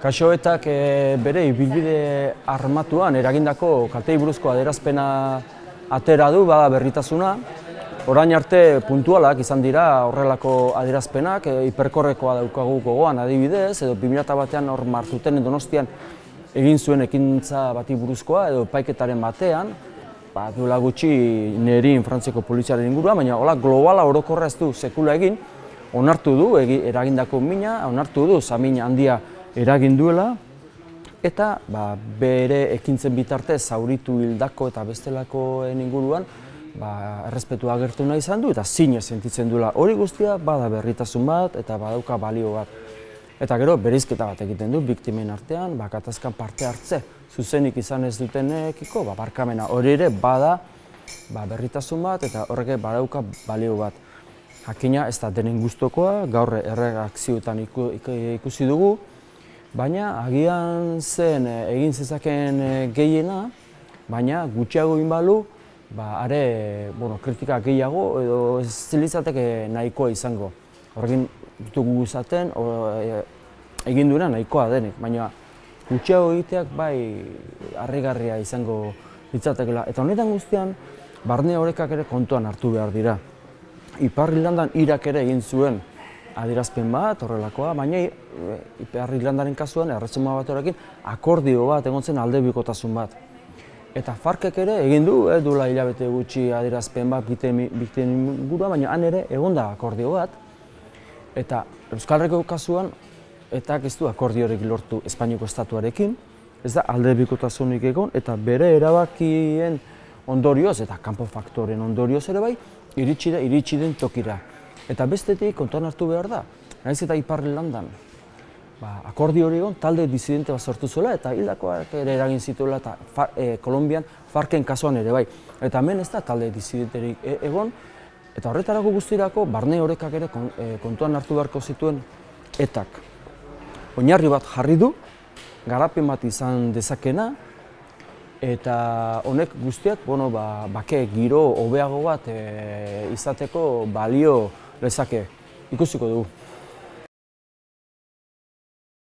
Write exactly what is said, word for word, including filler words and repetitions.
Kaxoetak bere ibilbide armatuan eragindako kalteei buruzko adierazpena atera du, bada berritasuna. Orain arte puntualak izan dira horrelako adierazpenak, hiperkorrekoa daukagu gogoan adibidez, edo bi mila batean hor Martutenen Donostian egin zuen ekintza bati buruzkoa, edo epaiketaren batean, ba, duela gutxi Nerin Frantziako poliziaren inguruan, baina hola globala orokorra ez du sekula egin, onartu du eragindako mina, onartu du zamin handia eragin duela, eta ba, bere ekintzen bitartez zauritu hildako eta bestelakoen inguruan ba, errespetua agertu nahi izan du eta zinez sentitzen duela. Hori guztia bada berritasun bat eta badauka balio bat. Eta gero bereizketa bat egiten du biktimen artean, ba, gatazkan parte hartze zuzenik izan ez dutenekiko ba, barkamena. Hori ere bada ba, berritasun bat eta horrek badauka balio bat. Jakina ez da denen gustukoa, gaur erreakzioetan ikusi dugu, baina agian zen egin zezakeen gehiena, baina gutxiago egin balu, ba, are bueno, kritika gehiago edo ez zilitzateke nahikoa izango. Horrekin dugu izaten, egin duena nahikoa denik, baina gutxiago egiteak bai harrigarria izango litzatekela. Eta honetan guztian, barne orekak ere kontuan hartu behar dira. Ipar Irlandan Irak ere egin zuen adierazpen bat, horrelakoa, baina Ipar Irlandaren kasuan, erresuma bat horrekin, akordio bat, egon zen aldebikotasun bat. Eta Farkek ere egin du, eh, duela hilabete gutxi adierazpen bat bikteen ingurua, baina han ere egon da akordio bat. Eta Euskal Herriko kasuan, etak ez du akordiorik lortu Espainiako estatuarekin, ez da aldebikotasunik egon, eta bere erabakien ondorioz, eta kanpo faktoren ondorioz ere bai, iritsi da, iritsi den tokira. Eta bestetik kontuan hartu behar da, nahiz eta Ipar Irlandan ba, akordio hori egon, talde disidente bat sortu zuela eta hildakoak ere eragin zituela eta e, Kolonbian Farken kasuan ere bai. Eta hemen ez da talde disidenterik e, egon, eta horretarako guztirako barne orekak ere kon, e, kontuan hartu beharko zituen etak. Oinarri bat jarri du, garapen bat izan dezakena, eta honek guztiak, bueno, ba, bake giro hobeago bat e, izateko balio lezake. Ikusiko dugu.